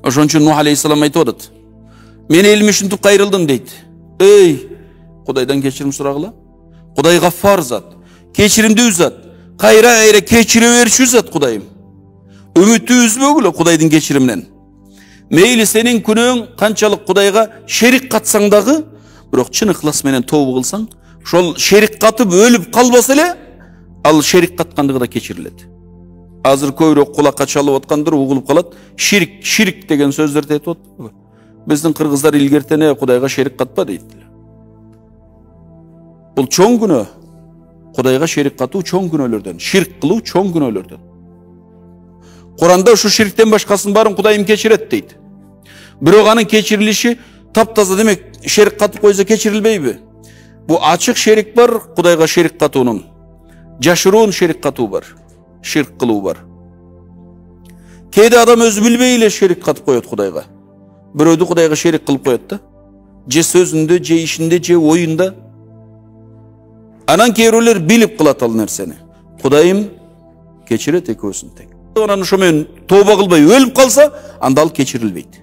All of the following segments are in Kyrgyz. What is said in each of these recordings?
Ошон үчүн Нух алейхиссалам айтып атат. Мен элим ушинтип кайрылдым дейт. Эй, Кудайдан кечирим сурагыла. Кудай гаффар зат, кечиримдүү зат, кайра кечире берчү зат Кудайым. Үмүттү үзбөгүлө Кудайдын кечириминен. Мейли сенин күнөөң канчалык Кудайга шерик катсаң дагы, бирок чын ыхлас менен тобу кылсаң, ошол шерик катып өлүп калбаса эле, ал шерик каткандыгы да кечирилет. Азыр көбүрөөк кулакка чалып аткандыр, угулуп калат. Ширк деген сөздөрдү айтып атат. Биздин кыргыздар илгертене Кудайга шерик катпа дейт. Бул чоң күнөө. Кудайга шерик катуу чоң күнөөлөрдөн, ширк кылуу чоң күнөөлөрдөн. Куранда ушу ширктен башкасын баарын Кудайым кечирет дейт. Бирок анын кечирилиши таптаза, демек, шерик катып койсо кечирилбейби? Бу ачык шерик бар, Кудайга шерик катуунун. Жашыруун шерик катуу бар, ширк кылуу бар. Кээде адам өзү билбей эле шерик катып коет Кудайга. Бирөөдү Кудайга шерик кылып коет да. Же сөзүндө, же ишинде, же оюнда. Анан кээ бирөөлөр билип кылат ал нерсени. Кудайым кечирет экөөсүн тең. Анан ошо менен тооба кылбай өлүп калса, анда ал кечирилбейт.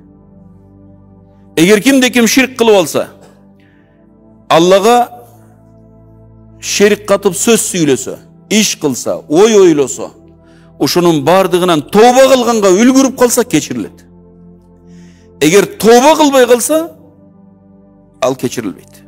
Эгер кимде-ким ширк кылып алса, Аллага шерик катып сөз сүйлөсө, иш кылса, ой ойлосо, ошонун бардыгынан тооба кылганга үлгүрүп калса кечирилет. Эгер тооба кылбай калса, ал кечирилбейт.